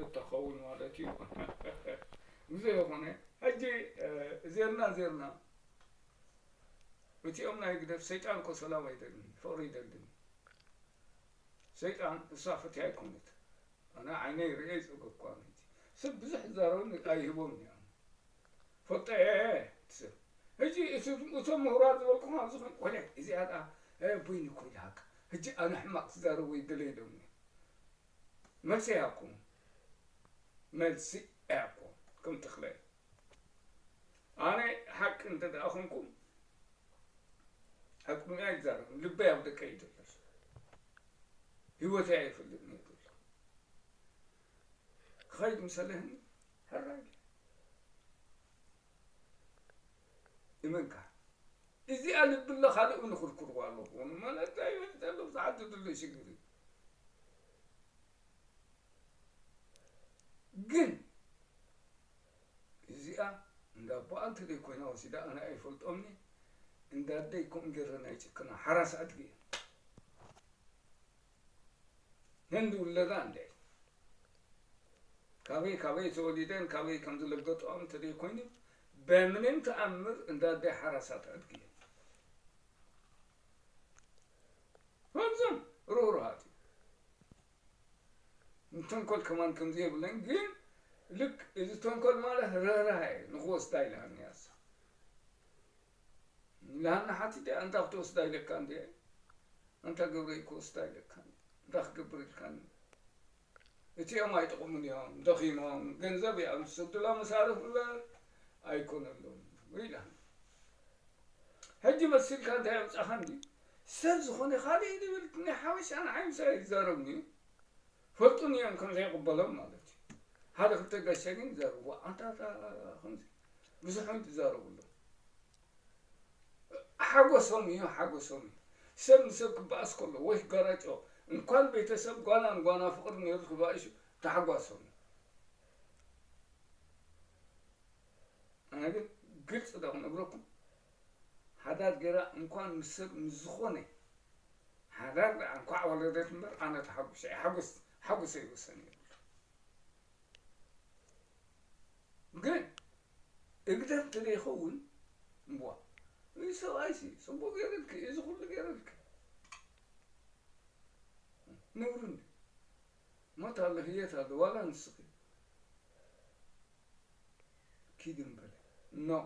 ክኸውን ማለት እዩ። ብዘይኮነ ሕጂ እ፣ ዜርና ዜርና እቲኦም ናይ ግደፍ ሰይጣን እኮ ሰላም ኣይደልን፣ ፍቕሪ ይደልን። ሰይጣን እሳ ፈትያ ኣይኮነት። ኣነ ዓይነይ ርእየ ይጸገኳ ነቲ ሰብ ብዙሕ ዝዛረቡኒ ኣይህቦም እዮም። ፈጠ ሰብ ሕጂ እቲ እቶም ምሁራት ዝበልኩም ኣብዚ ኾን ቆለ እዚኣ ደኣ እ፣ ቡይኒ እኮ ይልሃካ። ሕጂ ኣነ ሕማቕ ትዛረቡ ይደለ ኢሎምኒ። መልሲ ያኩም መልሲ ያኩም ከም ተኽለ ኣነ ሓቂ እንተ ደኣ ኾንኩም ኣብ ቅድሚያ ይዛረብ ልበይ ኣብ ደቀይ እዩ ዘሎ። ህይወተይ ኣይፈልጥን እየ ዘሎ። ክኸይድ ምሰለህኒ ሕራይ እመንካ። እዚኣ ልቢ ኣሎ ካልእ እውን ክርክርዋ ኣለዎ። ማለት ኣይፈልጥ ኣሎ ብዝዓዲ ዘሎ ሽግር እዩ። ግን እዚኣ እንዳ ኣቦኣ እንተ ዘይኮይና ወሲዳ ኣነ ኣይፈልጦምኒ። እንዳ ኣደይ ከምኡ ገይረ ናይ ጭክና ሓራስ ኣድጊ እየ። ህንዲ ውለዳ እንደ ካበይ ካበይ ተወሊደን ካበይ ከም ዝለገጥኦም እንተ ዘይኮይኑ በምንም ተኣምር እንዳ ኣደይ ሓራሳት ኣድጊ እየ። ከምዞም ርህሩሃት እዩ። ንተንኮል ከማን ከምዚ የብለን ግን ልክ እዚ ተንኮል ማለት ርህራሄ እዩ ንክወስዳ ኢልሃኒ እያ እሳ። ኢልሃኒ ሓቲተ ኣንታ ክትወስዳ ኢለካ እንድየ ኣንታ ገብረይ ክወስዳ ኢለካ እንድየ እንታይ ክገብር ኢልካኒ። እቲኦም ኣይጠቕሙን እዮም ደኺሞም ገንዘብ እዮም ዝሰዱላ መሳርፍ እምበር ኣይኮነሎም ኢላ። ሕጂ መሲልካ እንታይ ኣምጻኻ እንዲ ሰብ ዝኾነ ካልእ እዩ ዝብል ናይ ሓበሻ ንዓይ ምሳይ ይዛረብኒ እዩ። ፈልጡኒ እዮም ከም ዘይቕበሎም ማለት እዩ። ሓደ ክልተ ጋሻ ግን ይዛረቡ ኣንታ ከምዚ ብዙሕ እዮም ትዛረቡ ኣለዉ። ሓጎሶም እዩ ሓጎሶም እዩ። ሰብ ንሰብ ክበኣስ ከሎ ወይ ክጋራጮ እንኳን ቤተሰብ ጓና ንጓና ፍቕሪ ነይሩ ክባእሽ ተሓጓሶም እዩ። ኣነ ግን ግልፂ ዶ ክነግረኩም ሓዳር ገይራ እንኳን ምስ ሰብ ምስ ዝኾነ ሓዳር ደኣ እንኳዕ ወለደት እምበር ኣነ ተሓጉሰ ሓጉስ ሓጉሰ ይወሰን የብሉ። ግን እግደፍ እንተዘይኸውን እምቧ እዚ ሰብኣይሲ ፅቡቅ ገይረልኪ እዚ ኩሉ ገይረልኪ ነውሪ እንዲ ሞት ኣሎ ህየት ኣሎ ዋላ ንስኺ ኪድ እምበለ ኖ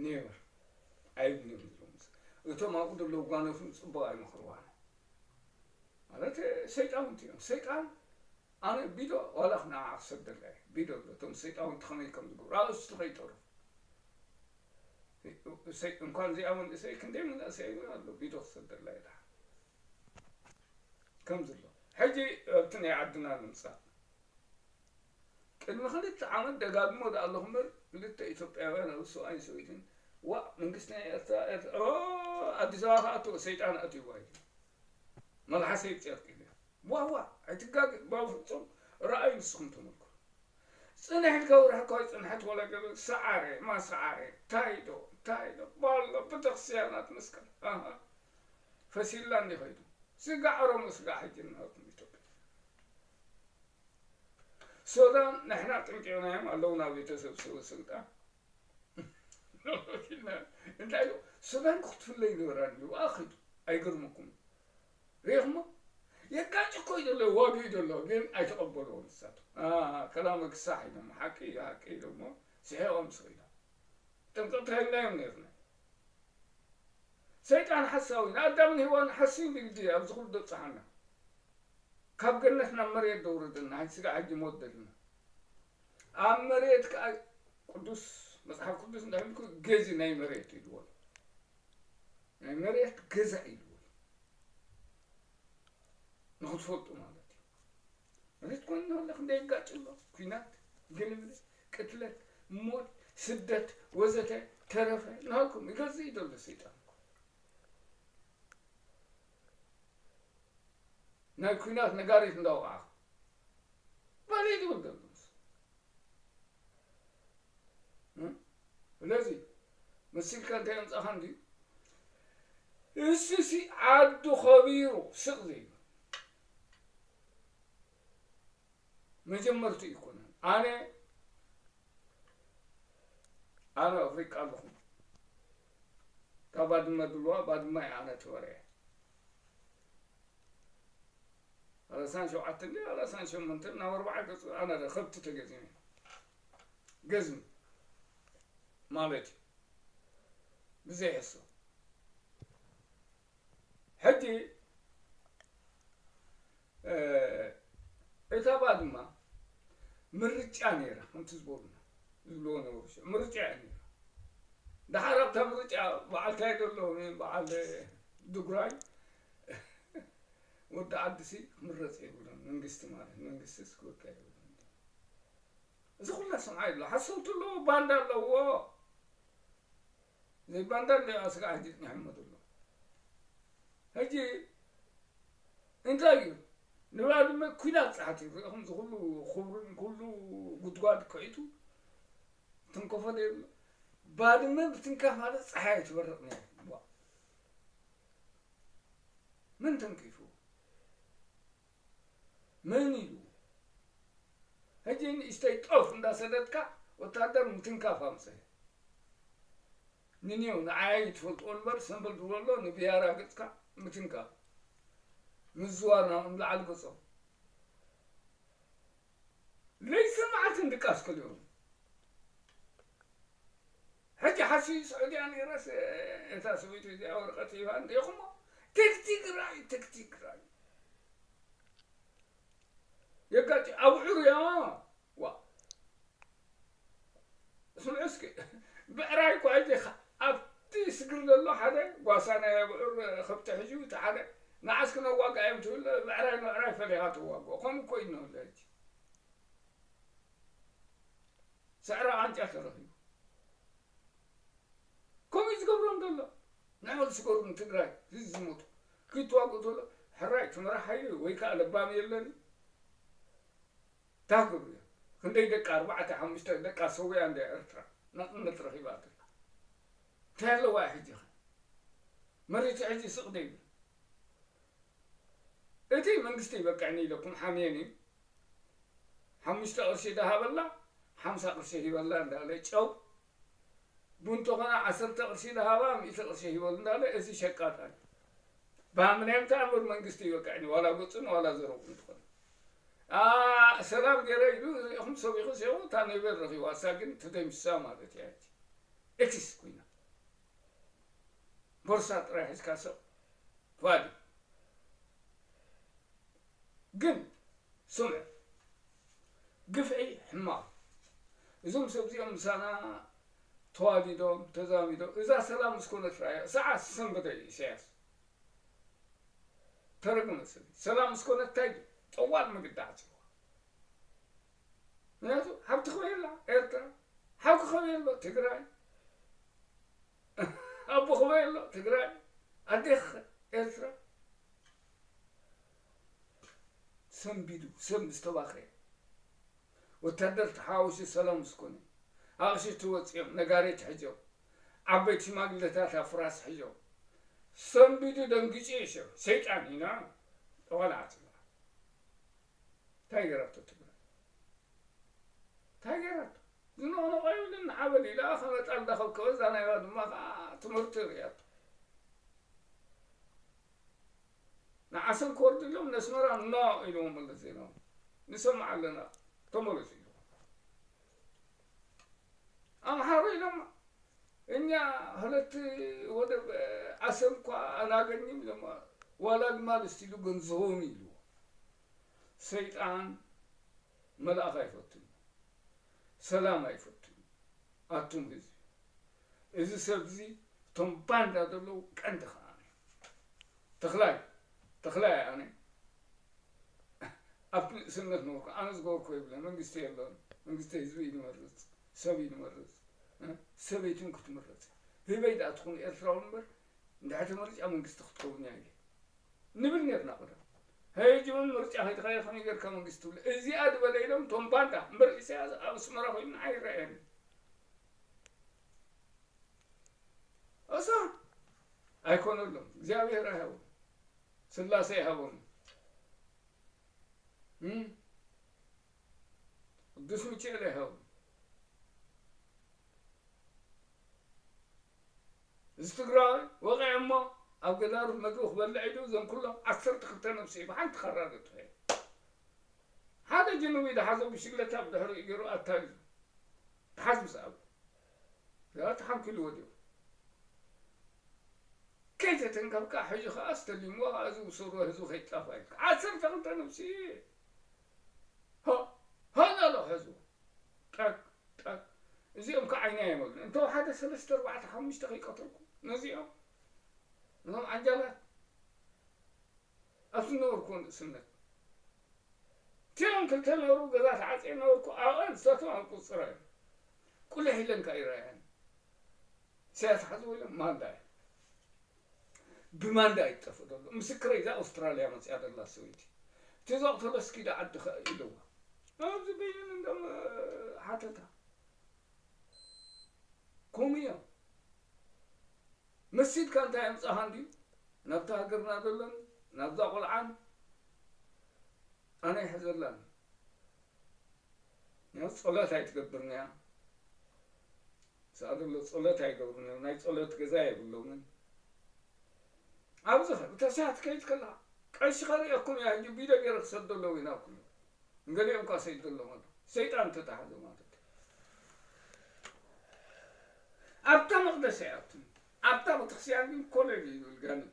ኔቨር ኣይብልን እዮም ዝብሎም እቶም ኣብኡ ዘለዉ ጓኖትን ፅቡቅ ኣይመኽርዋን ማለት ሰይጣውንቲ እዮም ሰይጣን ኣነ ቢዶ ዋላ ክንዓ ክሰደላ እየ ቢዶ ኣሎ እቶም ሰይጣውንቲ ከመይ ከም ዝገብሩ ኣርእስቱ ከይጠሩ እንኳን እዚኣ መንእሰይ ክንደይ መንእሰይ እውን ኣሎ ቢዶ ክሰደላ እየ ደሓን ከም ዘሎ ሕጂ ኣብቲ ናይ ዓድና ንምፃእ ቅድሚ ክልተ ዓመት ደጋግሞ ደኣ ኣለኹ እምበር ክልተ ኢትዮጵያውያን ኣብ ሰብኣይን ሰበይትን ዋእ መንግስቲ ናይ ኤርትራ ኤርትራ ኦ ኣዲስ ኣበባ ከኣትዎ ሰይጣን ኣትይዋ ኢሉ መልሓሰይ ጨርቅ ኢለ ዋዋ ኣይትጋገ ባፍጹም ረኣዩ ንስኹም ተመልከቱ ጽንሕ ኢልካ ወርሒ እኳ ይጽንሐት ወላ ገለ ሰዓረ ማሰዓረ ታይዶ ታይዶ ባሎ ቤተክርስትያናት መስቀል ኣሃ ፈሲላ እንዲ ኸይዱ ስጋዕ ኦሮሞ ስጋዕ ሕጂ እናወኩም ኢትዮጵያ ሱዳን ንሕና ጥንቂቕናዮም ኣለዉ ናብ ቤተሰብ ስሩ ስልጣን እንታይ እዩ ሱዳን ክትፍለ ይነበራ ኣለዉ ኣኺዱ ኣይገርመኩም ሪኢኹሞ የጋጭ እኮ እዩ ዘሎ ዋግኡ እዩ ዘሎ ግን ኣይተቐበልዎ ንሳቶም ከላመ ክሳሕ ኢሎም ሓቂ እዩ ሓቂ ኢሎሞ ስሒቖም ስኺሎም ጥንቅቕቲ ሃይልናዮም ነርና ሰይጣን ሓሳዊ ንኣዳምን ሄዋን ሓስዩ ንግዲ ኣብዚ ኩሉ ደብፅሓና ካብ ገነት ናብ መሬት ደውረደና ስጋ ሕጂ ሞት ደልና ኣብ መሬት ከዓ ቅዱስ መፅሓፍ ቅዱስ እንዳበልኩ ገዚ ናይ መሬት ኢልዎ ናይ መሬት ገዛ ኢልዎ ንክትፈልጡ ማለት እዩ መሬት ኮይኑ ኣለክ እንዳይጋጭ ኣሎ ኩናት ግልምል ቅትለት ሞት ስደት ወዘተ ተረፈ ናልኩም ይገዝእ እዩ ዘሎ ሰይጣን ናይ ኩናት ነጋሪት እንዳወቕዓ በል እዩ ዝብል ዘሎ ስለዚ መሲልካ እንታይ ኣምፃኻ እንድዩ እሱሲ ዓዱ ኸቢሩ ስቕ ዘይብል መጀመርቱ ይኮነን። ኣነ ኣነ ኣፍሪቃ ኣለኹ። ካብ ባድመ ድልዋ ባድመ እየ ኣነ ተወርየ። ኣላሳን ሸውዓተ እንዲ ኣላሳን ሸሞንተ ናብ ኣርባዓ ገጽ ኣነ ደ ከብቲ ተገዚመ። ገዝም ማለት እዩ። ብዘይ ሕሶ። ሕጂ፣ እ፣ እታ ባድማ ምርጫ ነይራ፣ ከምቲ ዝበሉና፣ ዝብልዎ ነበሩ። ሽዑ ምርጫ እያ ነይራ። ደሓር ኣብታ ምርጫ በዓል እንታይ ዘሎ፣ በዓል ድጉራይ፣ ወዲ ዓድሲ ክምረጽ የብሉን፣ መንግስቲ ማለት፣ መንግስቲስ ክወቅዕ የብሉን። እዚ ኩላ ሰምዓ ኣሎ። ሓሰውቲ ኣለዎ፣ ባንዳ ኣለዎ። ዘይባንዳ እንደ ኣስጋ ሕጂ ጽኒሖሞ ዘሎ። ሕጂ እንታይ እዩ? ንባድመ ኲናት ጸሓት እዩ። ርኢኹም፣ እዚ ኩሉ ኹብርን ኩሉ ጉድጓድ ክዒቱ ትንከፎ ዘይብሉ። ባድመ ብትንካፍ ማለት ጸሓይ ትበርቕ ነይሩ። ዋ። መን ተንኪፉ? መን ኢሉ? ሕጂ ንእሽተይ ጦፍ እንዳሰደድካ ወታደር ምትንካፍ ኣምጽእ። ንኔው ንዓይ ትፈልጥዎ እምበር ሰምበል ዝበሎ ንብያራ ገጽካ ምትንካፍ። ምዝዋር ናብ ንላዕሊ ገጾም። ለይትን መዓልትን ድቃስ ከሊኦም። ሕጂ ሓሲ ስዑድያ ነይረስ እታ ሰበይቱ እዚኣ ወረቐት ሂባ እንዲኹሞ ትግትግራይ፣ ትግትግራይ። የጋጭ ኣብዑር እያ። ዋ። ስምዑ እስኪ፣ ብዕራይ እኳ ሕጂ ኸ-፣ ኣብቲ ስግር ዘሎ ሓደ ጓሳ ናይ ኣብዑር ከብቲ ሒዙ፣ እቲ ሓደ ንዓስ ክነዋግኣ እዮም ትብል፣ ብዕራይ ንብዕራይ ፈሊኻ ትዋግኦ። ከምኡ እኮ እዩ እንሆ ሕጂ። ስዕረ ቃንጫ ተረኺቡ። ከምኡ እዩ ዝገብሮም ዘሎ። ንዕኡ ዝገርም ትግራይ ህዝቢ ዝሞቱ ክትዋግኡ ተሎ ሕራይ ትመራሕ ሓይሊ ወይ ከዓ ለባም የለን። እንታይ ክገብሩ እዮም? ክንደይ ደቂ ኣርባዕተ ሓሙሽተ ደቂ ኣሰዊኣ እንደ ኤርትራ ናጽነት ረኺባ ኣላ። እንታይ ኣለዋ ሕጂ ኸ? መሬት ሕጂ ስቕ ዶ ይብል? እቲ መንግስቲ ይበቅዕኒ ኢለኩም ሓምየን እዩ። ሓሙሽተ ቅርሺ ደሃበላ፣ ሓምሳ ቅርሺ ሂበላ እንዳለ ጨው፣ ቡን ተኾነ ዓሰርተ ቅርሺ ደሃባ፣ ሚእቲ ቅርሺ ሂበሉ እንዳለ፣ እዚ ሸቃጣ እዩ። ብሃምናዮም ተኣምር መንግስቲ ይበቅዕኒ፣ ዋላ ገጹን ዋላ ዘረቡ እንተኾነ። ኣ፣ ሰላም ገይረ ኢሉ፣ ሪኢኹም ሰቢኹ ሲኹ፣ እታ ኖቤል ረኺቡ፣ ኣሳ ግን ተደምሲሳ ማለት እያ። ኤክስ ኮይና። ቦርሳ ጥራይ ሒዝካ ስቕ። ፋዲ። ግን ስምዑ፣ ግፍዒ ሕማቕ። እዞም ሰብ እዚኦም ምሳና ተዋዲዶም፣ ተዛሚዶም፣ እዛ ሰላም ምስ ኮነት ራእያ፣ ሰዓት ሰንበደ እዩ ኢሳያስ። ተረግመ ሰብ። ሰላም ምስ ኮነት እንታይ እዩ? ጠዋል ምግዲ ዓጽዋ። ምክንያቱ፣ ሓብቲ ክበየላ ኤርትራ፣ ሓው ክኸበየሎ ትግራይ። ኣቦ ክበይ ኣሎ ትግራይ፣ ኣዴኽ ኤርትራ። ሰንቢዱ፣ ሰብ ምስ ተባኸየ፣ ወታደር ተሓዋዊሱ ሰላም ምስ ኮነ፣ ኣቕሽቲ ወፂኦም፣ ነጋሪት ሒዞም፣ ዓበይቲ ሽማግለታት ኣብ ፍራስ ሒዞም፣ ሰንቢዱ ደንጊጹ እዩ ሰብ። ሰይጣን ኢና፣ ጠዋል ዓፅዋ። እንታይ ገይራቶ ትግራይ? እንታይ ገይራቶ? ዝነቕነቐ ይብልን ዓበል ኢላ ከመጣ እንዳኸብከበ፣ እዛ ናይ ባድማ ከዓ ትምህርቲ ርእያቶ። ንዓሰብ ክወርዱ ኢሎም ነስመራ ኖ ኢልዎም መለስ ዜናዊ። ንሰምዕ ኣለና፣ ተመለሱ ኢልዎም። ኣምሓሩ ኢሎም እኛ ሁለት ወደብ ዓሰብ እኳ ኣናገኝም ኢሎም፣ ዋላ ግማል እስቲሉ ገንዘቦም ኢልዎ። ሰይጣን መልኣኽ ኣይፈቱን፣ ሰላም ኣይፈቱን። ኣቱም ህዝቢ፣ እዚ ሰብ እዚ እቶም ባንዳ ዘለዉ ቀንዲ ኸኣ ተኽላይ፣ ተኽላይ ኣነ ኣብቲ ንእስነት ነበርኩ። ኣነ ዝገበርኩ የብለን። መንግስቲ የለን። መንግስቲ ህዝቢ እዩ ዝመርጽ፣ ሰብ እዩ ዝመርጽ። እ? ሰበይትን ክትምረጽ። ህበይ ደኣ ትኹን ኤርትራዊ እምበር፣ እንድሕር ተመሪጻ መንግስቲ ክትከውን እያ ኢለ ንብል ኔርና ቀደም። ሕጂ እውን ምርጫ ከይተኻየደ ከመይ ጌርካ መንግስቲ ትብል? እዚኣ ዝበለ ኢሎም እቶም ባንዳ። እምበር ኢሳያስ ኣብ ኣስመራ ኮይኑ ኣይረኣየን። እሳ ኣይኮነሎም። እግዚኣብሔር ኣይሃቦም። ስላሴ ይሃቦም። እም? ዱስ ሚካኤል ኣይሃብን። እዚ ትግራዋይ ወቒዐ እሞ ኣብ ገዳርፍ መግቢ ክበልዕ ኢሉ እዞም ኩሎም ዓሰርተ ክልተ ነብሲ እዩ ብሓንቲ ካራ ዘጥፍኤ። ሓደ ጅኑብ እዩ ዝሓዞ ብሽግለታ ብድሕሪኡ ገይሩ ኣታሊሉ። ተሓዝ ምስ ኣሉ። ያ ተሓንኪሉ ወዲቑ። ከይተተንከፍካ ሕጂ ኸዓ ኣስተሊምዎ ኸዓ እዚ ውሰድዎ ህዝቢ ከይጣፋ ኢልካ። ዓሰርተ ክልተ ነብሲ ሃ፣ ሃን ኣሎ ሕዝቡ። ጠቅ፣ ጠቅ። እዚኦም ከዓ ዓይና የመሉ። እንተ ሓደ ሰለስተ፣ ኣርባዕተ፣ ሓሙሽተ ከይቀተልኩ ነዚኦም፣ እዞም ዓንጃላት ኣብ ዝነበርኩ ንእስነት። እቲኦም ክልተ ነበሩ፣ ገዛ ተዓጽየ ነበርኩ። ኣብኣን ንሳቶም ኣብ ቁጽራ እዮም። ቁልሕ ኢለን ከዓ ይረኣያን። ኢሳያስ ሓዚ ወይሎም ማንዳ እዩ። ብማንዳ ይጠፍእ ዘሎ። ምስክረይ እዛ ኣውስትራልያ መጽያ ዘላ ሰበይቲ። እቲ ዘቕተሎ እስኪ ዳ ዓዲ ኸ ኢልዋ። ኣብዚ በይኑ እንደም ሓተታ። ከምኡ እዮም። መሲልካ እንታይ ኣምጻኻ እንድዩ? ናብታ ሃገርና ዘሎን ናብዛ ቆልዓን ኣነ ይሕዘላን። ያው ጸሎት ኣይትገብርን እያ። ስኣል ኣሎ ጸሎት ኣይገብርን እዮም። ናይ ጸሎት ገዛ የብሎምን። ኣብዚ ኸ ብተስያት ከይድ ከለኻ ቀሺ ከርእየኩም እያ። ሕጂ ቪድዮ ገይረ ክሰደሎም ኢና ኩሉ። ንገሊኦም እኳ ሰይድ ዘለዎም ኣሎ። ሰይጣን ተታሕዘ ማለት እዩ። ኣብታ መቕደስ ኣይኣቱን። ኣብታ ቤተክርስትያን ግን ኮለል ይብል ጋኔን።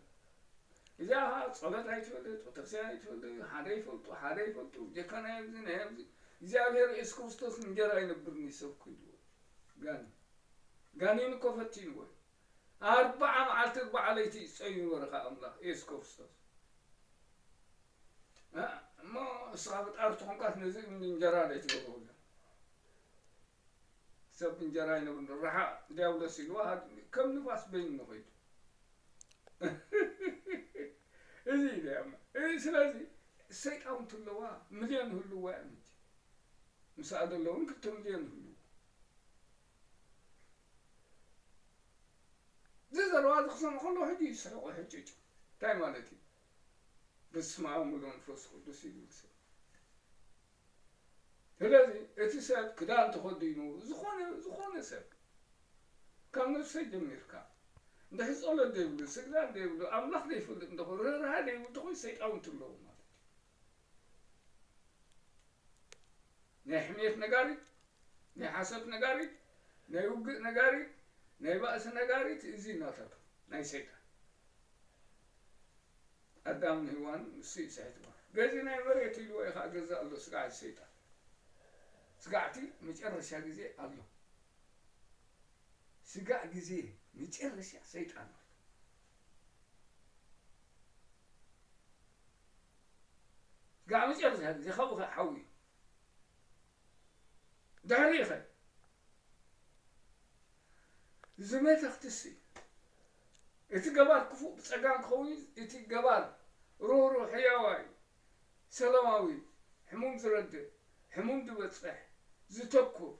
እዚኣ ኸዓ ጸሎት ኣይትፈልጥ፣ ቤተክርስትያን ኣይትፈልጥ፣ ሓደ ይፈልጡ፣ ሓደ ይፈልጡ፣ ጀካ ናይ ኣብዚ፣ ናይ ኣብዚ። እግዚኣብሔር የሱስ ክርስቶስ እንጀራ ይነብርኒ ሰብኩ ኢልዎ። ጋኔን። ጋኔን እኮ ፈቲንዎ እዩ። ኣርብዓ መዓልቲ ኣርብዓ ለይቲ እዩ ጸይሙ በረኻ ኣምላኽ የሱስ ክርስቶስ። እ፣ እሞ እስኻ ፈጣሪ ተኾንካስ ነዚ እምኒ እንጀራ ዘይትገብሮ ኢሉ። ሰብ እንጀራ ይነብር፣ ረሓቕ ዲያብሎስ ኢልዋ፣ ከም ንፋስ በይኑ ኸይዱ። እዚ እዩ ደኣ። እ፣ ስለዚ ሰይጣን ትለዋ ሚልዮን ህልዋ እያ መቸም። ምስኣ ዘለውን ክልተ ሚልዮን ህልው። እዚ ዘረባ እዚ ክሰምዖ ከለኹ ሕጂ ይስሕቑ፣ ሕጭጭ። እንታይ ማለት እዩ? በስመ ኣብ ወወልድ ወመንፈስ ቅዱስ ይብል ሰብ። ስለዚ እቲ ሰብ ክዳን ተኸዲኑ፣ ዝኾነ፣ ዝኾነ ሰብ፣ ካብ ነብሰይ ጀሚርካ፣ እንድሕር ጸሎት ዘይብሉ፣ ስግዳን ዘይብሉ፣ ኣምላኽ ዘይፈልጥ እንተኾይኑ፣ ርህራሄ ዘይብሉ እንተኾይኑ፣ ሰይጣውንቲ ኣለዉ ማለት እዩ። ናይ ሕሜት ነጋሪት፣ ናይ ሓሶት ነጋሪት፣ ናይ ውግእ ነጋሪት፣ ናይ ባእሲ ነጋሪት፣ እዚ እናታቱ ናይ ሰይጣን። ኣዳምን ሄዋን ንሱ እዩ ስሒትዋ። ገዚ ናይ መሬት ኢልዎ እዩ ኸዓ ገዛእ ኣሎ ስጋዕ ሰይጣን። ስጋዕቲ መጨረሻ ግዜ ኣሎ። ስጋዕ ግዜ መጨረሻ ሰይጣን ኣሎ። ስጋዕ መጨረሻ ግዜ ካብኡ ኸ ሓዊ እዩ። ድሕሪኡ ኸ? እዚ መተኽትሲ፣ እቲ ገባር ክፉእ ብጸጋም ክኸውን እዩ፣ እቲ ገባር ርህሩህ፣ ሕያዋይ፣ ሰላማዊ፣ ሕሙም ዝረድእ፣ ሕሙም ዝበጽሕ፣ ዝተኩር፣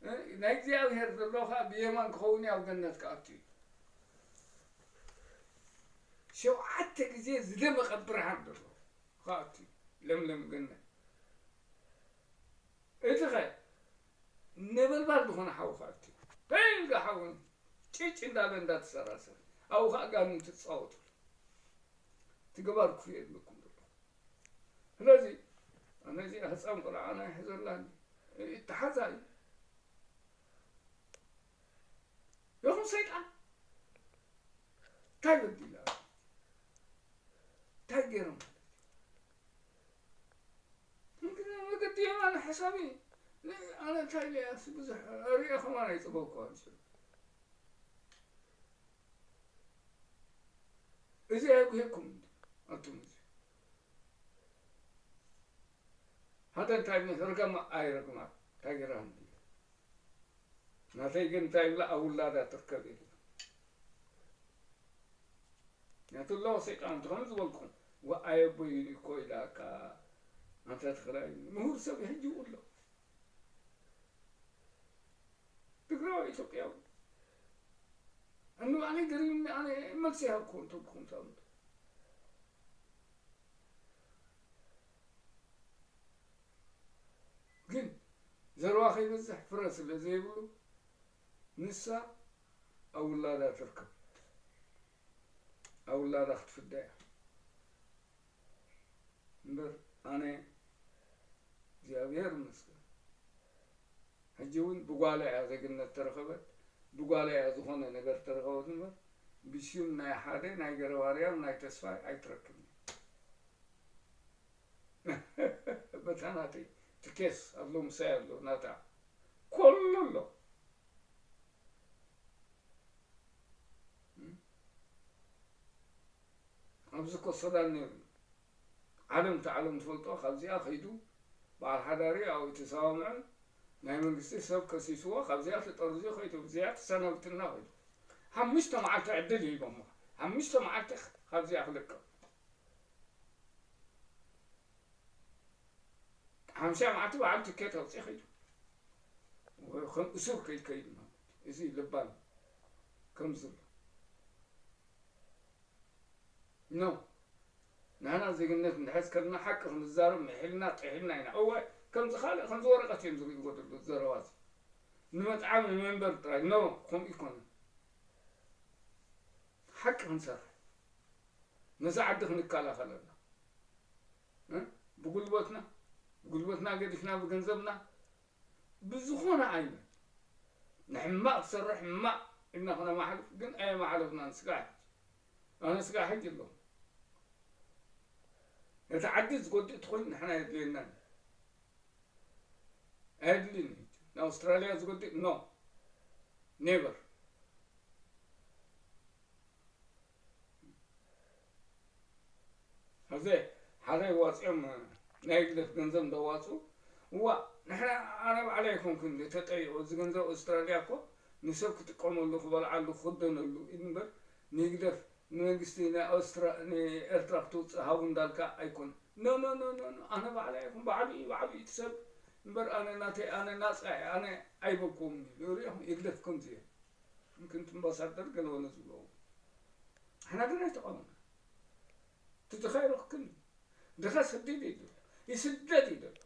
እ፣ ናይ እግዚኣብሔር ዘሎ ኸኣ ብየማን ክኸውን እዩ፣ ኣብ ገነት ክኣቱ እዩ። ሸውዓተ ግዜ ዝደመቐ ብርሃን ዘለዎ ክኣቱ እዩ፣ ለምለም ገነት። እቲ ኸ ነበልባል ዝኾነ ሓዊ ክኣቱ እዩ። እንታይ ኢልካ ሓዊ ጭጭ እንዳበለ እንዳተሰራሰረ፣ ኣብኡ ኸኣ ጋንንቲ ትጻወቱ። እቲ ገባር ክፉእ የብለኩም ዘሎ። ስለዚ፣ ኣነ እዚኣ ህጻን ቆልዓ ናይ ሕዘላኒ፣ ይተሓዛ እዩ። ይኹን ሰይጣን፣ እንታይ በዲላ? እንታይ ገይሮም? እንግዲህ መገዲ የማነ ሓሳቢ፣ ኣነ እንታይ ኢለ እያስ ብዙሕ ሪኤ ከማን ኣይጸበኳን። እዚ ኣይጉሄኩም እንዲ፣ ኣቱም እዚ። ሓደ እንታይ ርገማ ኣይረግማ፣ እንታይ ገይራ እንዲ። ናተይ ግን እንታይ ይብላ፣ ኣብ ውላዳ ትርከብ ኢሉ። ምክንያቱ ኣለዎ ሰይጣን፣ ከምኡ ዝበልኩም፣ ወኣይ ኣቦይ እኮ ኢላካ፣ ኣንታ ትግራይ፣ ምሁር ሰብ ሕጂ ይብሎ። ትግራዋይ ኢትዮጵያዊ። ኣነ ባዕለይ ገሪሙኒ፣ ኣነ መልሲ ይሃብኩ እንተልኩም ትኣምኑ። ግን ዘረባ ከይበዝሕ ፍረ ስለ ዘይብሉ፣ ንሳ ኣብ ውላዳ ትርከብ። ኣብ ውላዳ ክትፍዳ እያ። እምበር ኣነ እግዚኣብሔር ይመስገን፣ ሕጂ እውን ብጓላ እያ ዜግነት ተረኸበት፣ ብጓላ እያ ዝኾነ ነገር ተረኸበት እምበር፣ ብሽም ናይ ሓደ ናይ ገረባርያም ናይ ተስፋይ ኣይትረክብን። በታ ናተይ ትኬስ ኣሎ፣ ምሳይ ኣሎ፣ ናታ ኮሎ ኣሎ። ኣብዚ እኮ ሰላም ነይሩ። ዓለም፣ እቲ ዓለም ትፈልጦ፣ ካብዚኣ ከይዱ በዓል ሓዳሪ ኣብኡ ተሰማምዑ፣ ናይ መንግስቲ ሰብ ከሲስዎ፣ ካብዚኣ ተጠርዙ ከይዱ፣ እዚኣ ተሰናብትና ከይዱ። ሓሙሽተ መዓልቲ ዕድል ሂቦሞ። ሓሙሽተ መዓልቲ ካብዚኣ ክልቀቕ። ሓምሳ መዓልቲ በዓል ትኬት ኣውፂኡ ከይዱ። ከም እሱር ከይድ ከይዱ ማለት እዩ። እዚ ልባም ከም ዝብሎ። ኖ። ንሕና ዜግነት እንድሕዝ ከለና ሓቂ ክንዛረብ ምሒልና ጥሒልና ኢና። እወ፣ ከምዚ ካልእ ከምዚ ወረቐት እዮም ዝርእይዎ ዘለዉ ዘረባ እዚ። ንመጥዓም ንመንበር ጥራይ። ኖ፣ ከምኡ ይኮነን። ሓቂ ክንሰርሕ። ነዛ ዓዲ ክንከላኸለላ። እ? ብጉልበትና፣ ብጉልበትና ገዲፍና፣ ብገንዘብና፣ ብዝኾነ ዓይነት ንሕማቕ ክሰርሕ ሕማቕ ኢልና ክነማሕልፍ ግን ኣየማሕለፍናን። ስጋዕ ሕጂ፣ ኣነ ስጋዕ ሕጂ ኣለኹ። ነቲ ዓዲ ዝጎድእ ተኾይኑ ንሕና የድልየናን እዩ። ኣየድልይን እዩ። ንኣውስትራልያ ዝጎድእ ኖ፣ ኔቨር። ኣብዚ ሓደ ዋፂኦም ናይ ህግደፍ ገንዘብ እንዳዋፁ፣ እዋ፣ ንሕና፣ ኣነ ባዕለይ ኣይኮንኩን ተጠይቑ፣ እዚ ገንዘብ ኣውስትራልያ እኮ ንሰብ ክጥቀመሉ፣ ክበልዓሉ፣ ክኽደነሉ እዩ እምበር፣ ንህግደፍ፣ ንመንግስቲ ናይ ኣውስትራ-፣ ንኤርትራ ክትውፅእ ሃቡ እንዳልካ ኣይኮን። ኖ፣ ኖ፣ ኖ፣ ኖ፣ ኖ፣ ኣነ ባዕለይ ኣይኮን፣ ባዕሉ እዩ፣ ባዕሉ እዩ እቲ ሰብ እምበር፣ ኣነ ናተይ፣ ኣነ ናፃ እየ፣ ኣነ ኣይበልኩዎምን እዩ። ሪኢኹም፣ ህግደፍ ከምዚ እዮም። ምክንያቱ ኣምባሳደር ገለ ወለ ዝብለዎ። ንሕና ግን ኣይተቃወምና። እቲ ድኻ ይረኽክን እዩ። ድኻ ስደድ እዩ ዘሎ። ይስደድ እዩ ዘሎ።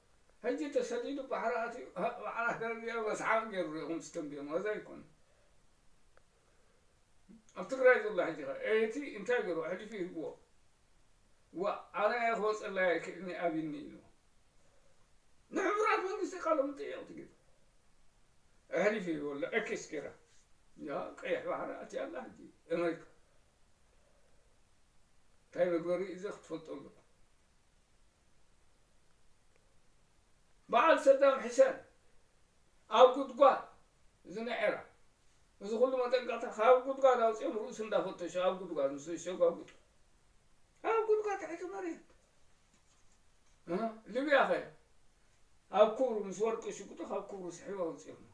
ሕጂ ተሰዲዱ ባሕሪ ኣትዩ፣ ሀ-፣ ባዕላ ከረድያ መስሓቕ ገይሩ ሪኢኹም ስተንብዮም። እዚ ኣይኮነን። ኣብ ትግራይ ዘሎ ሕጂ ኸ፣ እቲ እንታይ ገይሩ? ኣሕሊፉ ይህብዎ። ዋ፣ ኣነ ክወፀላ ኣይክእልን ኣብይኒ ኢሉ። ንሕቡራት መንግስቲ ቃለ መጠየቕ ትግብ። ኣሕሊፉ ይህብዎ ኣሎ። ኤክስ ገይራ። ያ፣ ቀይሕ ባሕሪ ኣትያ ኣላ ሕጂ ኣሜሪካ። እንታይ መግበሪ እዩ እዚ ክትፈልጦ ኣለኩም። በዓል ሰዳም ሕሰን ኣብ ጉድጓድ፣ እዚ ናይ ዒራቕ፣ እዚ ኩሉ መጠንቀቕታ ካብ ጉድጓድ ኣውፂኦም ርእሱ እንዳፈተሹ ኣብ ጉድጓድ ምስ እሸጉ ኣብ ጉድጓድ፣ ኣብ ጉድጓድ ትሕቲ መሬት። እ? ሊብያ ኸ ኣብ ኩብሩ ምስ ወርቂ ሽጉጡ ካብ ኩብሩ ስሒቡ ኣውፂኦም።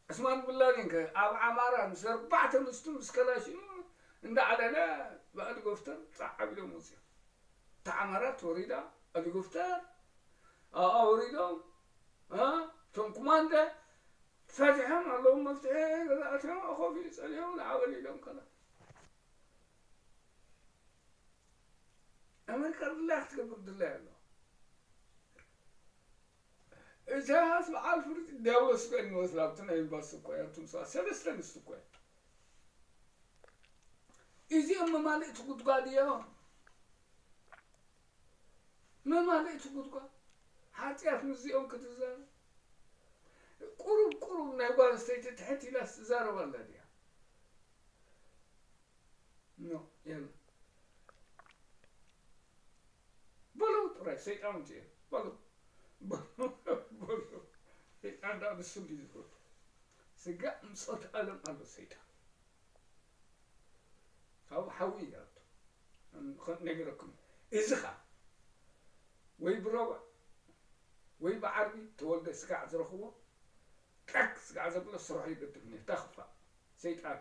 ዑስማን ብን ላዲን ከ ኣብ ዓማራ ምስ ኣርባዕተ ኣንስቱ ምስ ከላሽኑ እንዳዓለለ ብሄሊኮፕተር ጻዕ ኣቢሎም ወፂኦም። እታ ዓማራ ተወሪዳ፣ ሄሊኮፕተር ኣብኣ ወሪዶም፣ እ፣ እቶም ኮማንደ ፈቲሖም ኣለዉ፣ መፍትሒ ገዛ ኣትዮም፣ ኮፍ ኢሉ ጸሊኦም ንዓበል ኢሎም ከላ። ኣሜሪካ ድላያ ክትገብር ድላያ ኣለዋ። ኢሳያስ በዓል ፍርዲ ዲያብሎስ እኮ ይመስል ኣብቲ ናይ ኤምባሲ እኮ እያ፣ እቶም ሰባት ሰለስተ ኣንስቲ እኮ እያ። እዚኦም መማልእቲ ጉድጓድ እዮም። መማልእቲ ጉድጓድ። ሓጢኣት ምስዚኦም ክትዛረብ። ቁሩብ ቁሩብ ናይ ጓል ኣንስተይቲ ትሕት ኢላስ ትዛረብ ኣላ ድያ? ኖ፣ የለን። በለው ጥራይ፣ ሰይጣን እንጂ በለው። በለው፣ በለው። ሰይጣን ደኣ ንሱ እንድዩ ዝፈቱ። ስጋዕ ምጾት ዓለም ኣሎ ሰይጣን። ካብኡ ሓዊ ይኣቱ። ከም ነገረኩም። እዚ ኸኣ ወይ ብረቡዕ ወይ ብዓርቢ ተወልደ ስጋዕ ዝረኽቦ፣ ጠቅ ስጋዕ ዘብሎ ስርሑ ይገድፍ ነይሩ። እታ ክፋእ ሰይጣን።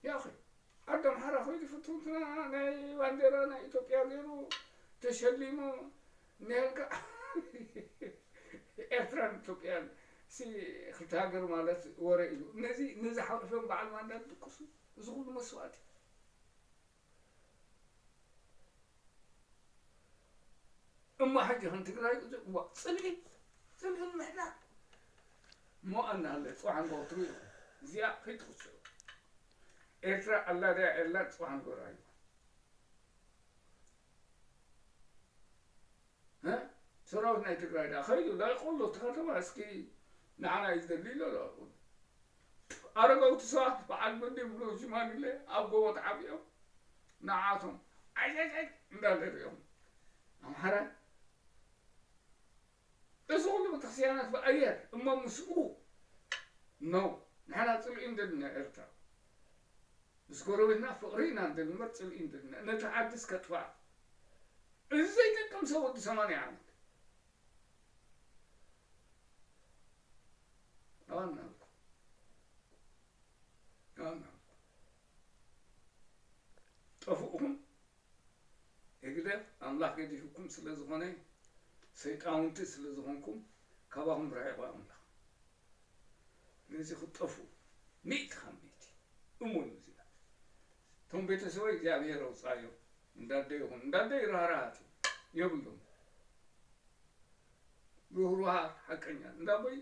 ያኺ፣ ዓዲ ኣምሓራ ኸይዱ ፍትውትና ናይ ባንዴራ ናይ ኢትዮጵያ ገይሩ ተሸሊሙ፣ ነልካ ኤርትራን ኢትዮጵያን ሲ ክልተ ሃገር ማለት ወረ ኢሉ። ነዚ፣ ነዚ ሓቂፎም በዓል ማንዳ ዝድቅሱ፣ እዚ ኩሉ መስዋእቲ። እሞ ሕጂ ከም ትግራይ እዋ ጽልኢ ጽልኢ ምሕዳር እሞ ኣናለ ጽዋሕ ንጎትሩ እዩ። እዚኣ ከይትኽስዑ ኤርትራ ኣላ ድያ የላን ጽዋሕ ንጎራ እዩ። ሰራዊት ናይ ትግራይ ዳ ከይዱ ላይቆሎ እቲ ከተማ እስኪ ንዓና እዩ ዝደሊ ኢሎ። ኣረገውቲ ሰባት በዓል መን ይብሉ ሽማግሌ ኣብ ጎቦ ተዓቢኦም ንዓቶም ዓይዓይዓይ እንዳለ ሪኦም ኣምሓራ እዚ ኩሉ ቤተክርስትያናት ብኣየር እሞ ምስኡ ነው። ንሕና ጽልኢ እንደልና ኤርትራ ምስ ጎረቤትና ፍቕሪ ኢና እንደንበር ጽልኢ እንደልና ነቲ ዓዲ እስከጥፋእ እዚ ዘይጠቅም ሰብ ወዲ ሰማንያ ዓመት ኣዋናልኩ ኣዋናልኩ ጠፍኡኹም ህግደፍ ኣምላኽ ገዲፉኩም ስለ ዝኾነ ሰይጣውንቲ ስለ ዝኾንኩም ካባኹም ርሒቑ ኣምላኽ ነዚ ክትጠፍኡ ሚእቲ ካብ ሚእቲ እሙን እዚ እቶም ቤተሰበይ እግዚኣብሔር ኣውፃዮም እንዳደይኹም እንዳደይ ራህራሃት የብሎም ርህሩሃት ሓቀኛ እንዳቦይ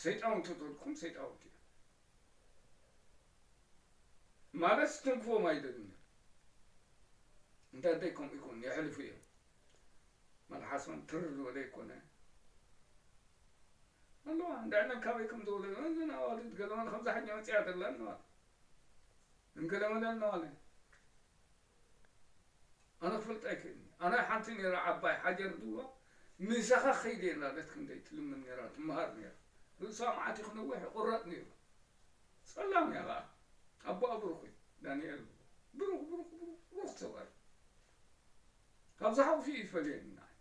ሰይጣውንቲ ተልኩም ሰይጣውንቲ እዮም ማለት ትንክፎም ኣይደልን እዮም እንዳደይ ከምኡ ይኮን የሕልፉ እዮም መልሓሶም ትር ዝበለ ይኮነ ኣለዋ እንዳዕለን ካበይ ከም ዝወለዱ እዘን ኣዋልድ ገለመን ከምዛ ሓኛ መፅያ ደላ ኣለዋ እንገለመለ ኣለዋለ ኣነ ክፈልጥ ኣይክእልኒ ኣነ ሓንቲ ነራ ዓባይ ሓጀር ድዋ ምሳኻ ከይደ የላለት ክንደይ ትልምን ነራ ትመሃር ነራ ርእሳ መዓት ክነውሕ ይቁረጥ ነይሩ ጸላም እያ ከዓ ኣቦኣ ብሩኽ እዩ ዳንኤል ብሩኽ ብሩኽ ብሩኽ ብሩኽ ሰብኣይ ካብ ዝሓቑፊ ይፈልየኒ ንዓይ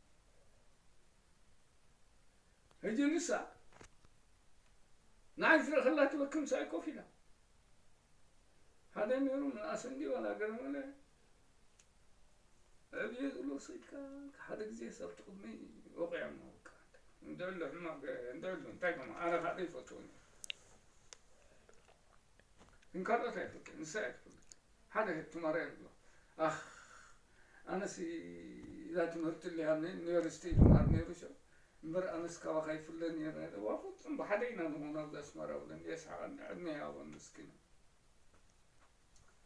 ሕጂ ንሳ ንዓይ ዝረኸላ ትበክም ሳይ ኮፍ ኢላ ሓደ ነይሩ ምንኣሰ እንዲ ዋላ ገለ መለ ዕብየ ዝብሎ ሰይድካ ሓደ ግዜ ሰብ ትቕድሚ ወቂዖም ወቃ እንድዕሉ ሕማቕ እንድዕሉ እንታይ ከማ ኣነ ካደ ይፈትዎ ግን ካልኦት ኣይፈልጥን ንሳ እያ ትፈልጥ ሓደ ትማርያ ዝብሎ ኣኽ ኣነሲ እዛ ትምህርቲ ሊሃብኒ ዩኒቨርሲቲ ይምሃር ነይሩ ሸ እምበር ኣነስ ካባኻ ይፍለ ነይረ ዋፍጹም ብሓደ ኢና ንኾን ኣብዚ ኣስመራ ብለን የስሓቐኒ ዕድመ ይሃቦን ምስኪና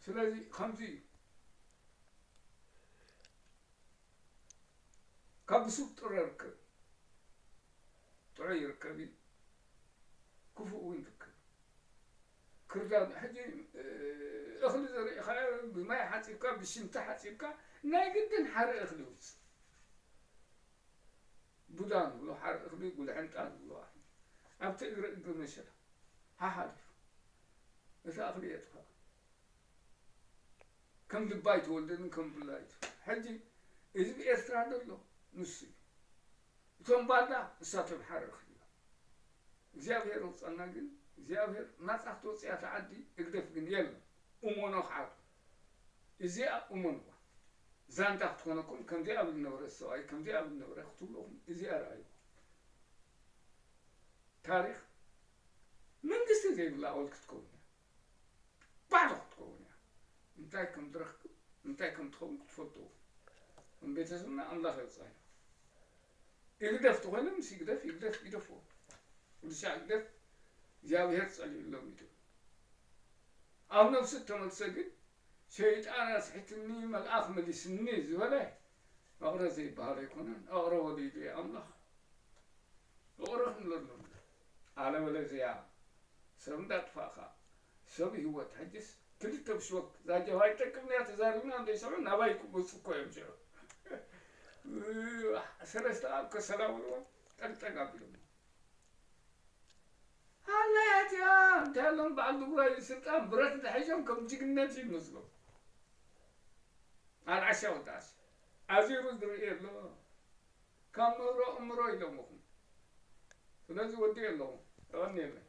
ስለዚ ከምዚ እዩ ካብ ብሱብ ጥረ ርከብ ጥዑይ ይርከብ እዩ ክፉእ እውን ይርከብ ክርዳድ ሕጂ እኽሊ ዘሪእኻ ብማይ ሓፂብካ ብሽንቲ ሓፂብካ ናይ ግድን ሓደ እኽሊ ውፅእ ቡዳ ንብሎ ሓደ እኽሊ ጉልሕንጣ ንብሎ ኣብቲ እግሪ እግሪ መሸላ ሓሓሊፉ እቲ እኽሊ የጥፋእ ከም ድባይ ትወልድን ከም ብላይቱ ሕጂ እዚ ብኤርትራ ዘሎ ንሱ እዩ እቶም ባንዳ ንሳቶም ሓረር ክልዮም እግዚኣብሔር ውፀና ግን እግዚኣብሔር ናፃ ክትወፅያ ተዓዲ እግደፍ ግን የለን እሞኖ ክዓዱ እዚኣ እሞንዋ ዛንታ ክትኮነኩም ከምዚኣ ብል ነበረ ሰብኣይ ከምዚኣ ብል ነበረ ክትብለኹም እዚኣ ረኣዩ ታሪኽ መንግስቲ ዘይብላ ኣወል ክትከውን እያ ባዶ ክትከውን እያ እንታይ ከም ትረክብ እንታይ ከም ትኸውን ክትፈልጡ ከም ቤተሰብና ኣምላኽ የውፃና ይግደፍ ተኮይነ ምስ ይግደፍ ይግደፍ ይደፍዎ ወዲ ሻዕ ይግደፍ እግዚኣብሔር ፀሊኡሎም እዩ ኣብ ነብሱ እተመልሰ ግን ሸይጣን ኣስሒትኒ መልኣኽ መሊስኒ ዝበለ ፍቕሪ ዘይበሃል ኣይኮነን ፍቕሪ ወሊዱ እዩ ኣምላኽ ፍቕሪ ክንብለሎም ኣለበለዚያ ሰብ እንዳጥፋእኻ ሰብ ህይወት ሕጅስ ክልተ ብሽወክ ዛጀባ ይጠቅም እያ ተዛሪብና እንደ ሰዑ ናባይ ክመፁ እኮ እዮም ሽዑ ሰለስተ ኣብ ከሰላ በልዎ ጠቅጠቅ ኣቢሎም ሃላያት እያ እንታይ ኣሎም በዓል ድጉራይ ስልጣን ብረት ተሒዞም ከም ጅግነት ይመስሎም ኣልዓሻ ወጣስ ኣዚሩ ዝርኢ ኣሎ ካብ ምህሮ እምሮ ኢሎምኹም ስለዚ ወዲ ኣለኹም ተቐኒየለይ